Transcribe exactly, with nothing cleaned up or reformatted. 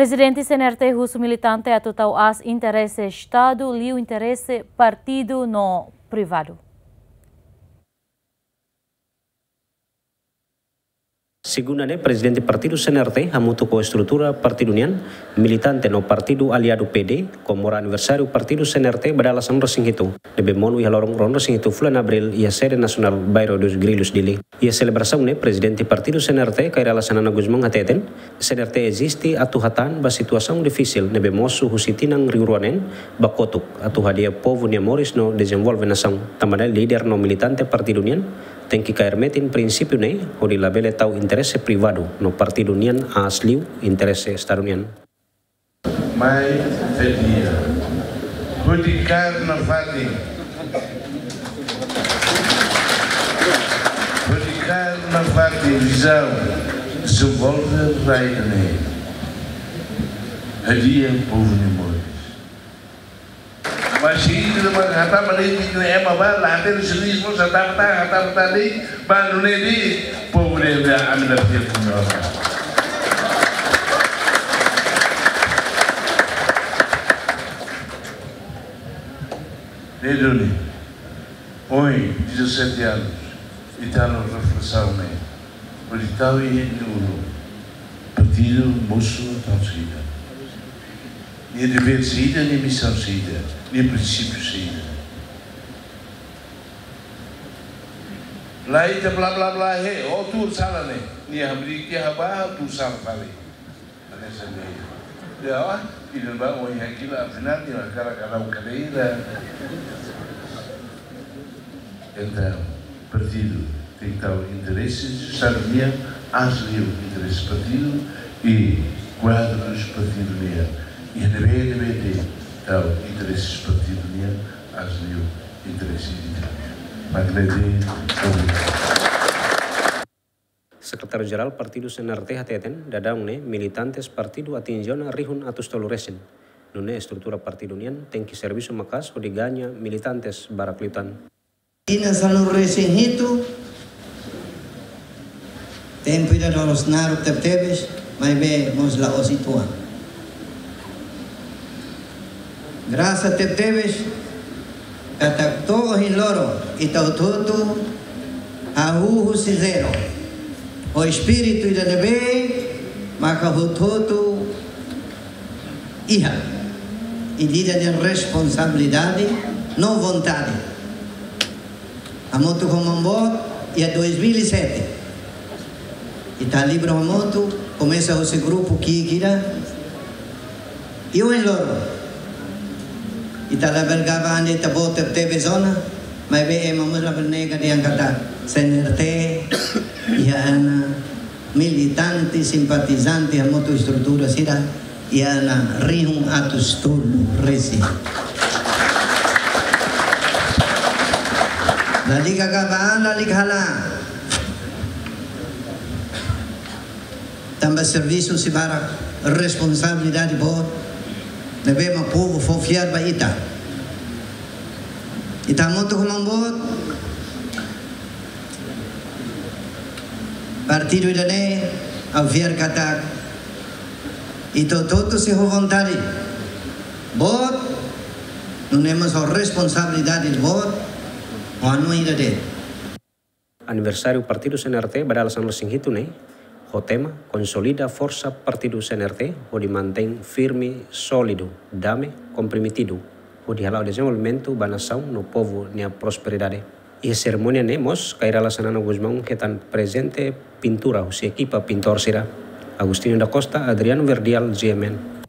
Prezidente C N R T husu militante atu tau aas interese Estadu, liu interese partidu no privadu. Segunda ne'e, Prezidente Partidu C N R T hamutuk ho estrutura partidu nian, militante no partidu aliadu P D, komemora aniversáriu Partidu C N R T ba dala sanulu-resin-hitu, ne'ebé monu iha loron ruanulu-resin-hitu fulan Abríl iha Sede Nasionál Bairro dos Grillos, Dili. Iha selebrasaun ne'e, Prezidente Partidu C N R T, Kay Rala Xanana Gusmão hateten, C N R T eziste atu hatán ba situasaun difisil ne'ebé mosu husi tinan rihun rua neen ba kotuk, atu hadi'a povu nia moris no dezenvolve nasaun. Tanba ne'e líder no militante partidu nian tenke kaer metin prinsípiu ne'e, hodi labele tau interese privadu no partidu nian aas liu interese Estadu nian. Mai, hadi'a. Hodi kaer nafatin. Hodi kaer nafatin vizaun. Dezenvolve rai ida-ne'e. Hadi'a povu nia moris. Mas se ita mak hatama de'it ita-nia ema ba, la hatene servisu, hatama tan, hatama tan de'it, ba nune'e de'it, povu dehan ami la fiar ku ita. Ne'e duni, ohin, dezassete anos, ita halo reflesaun ne'e, hodi tau iha ita-nia ulun, partidu mosu atu saida. Nia devér saida, nia misaun saida, nia prinsípiu saida. Lae, ita bla bla bla, he, ó tuur sala ne'e. Nia hamriik tiha ba, ó tuur sala fali. Hanesan ne'e. Ya, ó, ida ba, ó, iha kila, afinál, nia hakarak halo kadeira. Entaun, partidu tenke tau interese Estadu nian aas liu interese partidu i kuadrus partidu nian. I ne'ebé, ne'ebé de'it tau interese partidu nian aas liu interese ida-ne'e. Mak ne'e de'it, obrigadu. Sekretáriu Jerál Partidu C N R T hateten, daudaun ne'e militantes partidu atinje ona rihun atus tolu resin. Nune'e estrutura partidu nian tenke servisu maka'as hodi gaña militantes barak liután. Tinan sanulu-resin-hitu, tempu ida loloos naruk tebetebes, maibé mós la'ós uitoan. Grasa tebetebes, katak to'o ohin loron, ita hotu-hotu hahú husi zero. Ho espíritu ida ne'ebé, maka hotu-hotu iha. Ida-idak nia responsabilidade no vontade. Hamutuk ho maun boot, iha dois mil e sete. Ita halibur hamutuk, komesa husi grupu ki'ik ida. I ohin loron. Ita labele gaba an de'it ita-boot tebetebes ona, maibé ema mós labele nega dehan katak C N R T, iha ona militante, simpatizante, hamutuk estrutura sira, iha ona rihun atus tolu resin. Lalika gaba an, lalika halo an. Tanba servisu sei barak, responsabilidade boot, ne'ebé mak povu fó fiar ba ita. Ita hamutuk ho maun boot, partidu ida-ne'e, ha'u fiar katak ita hotu-hotu sei ho vontade boot, nune'e mós ho responsabilidade boot, ho hanoin ida de'it. Aniversáriu Partidu C N R T ba dala sanulu-resin-hitu ne'e, ho tema Konsolida Forsa Partidu C N R T hodi mantein firme, sólidu, dame, komprometidu, hodi hala'o dezenvolvimentu ba nasaun no povu nia prosperidade. Iha serimónia ne'e mós, Kay Rala Xanana Gusmão hetan prezente pintura husi ekipa pintór sira, Agostinho da Costa, Adriano Verdial, G M N.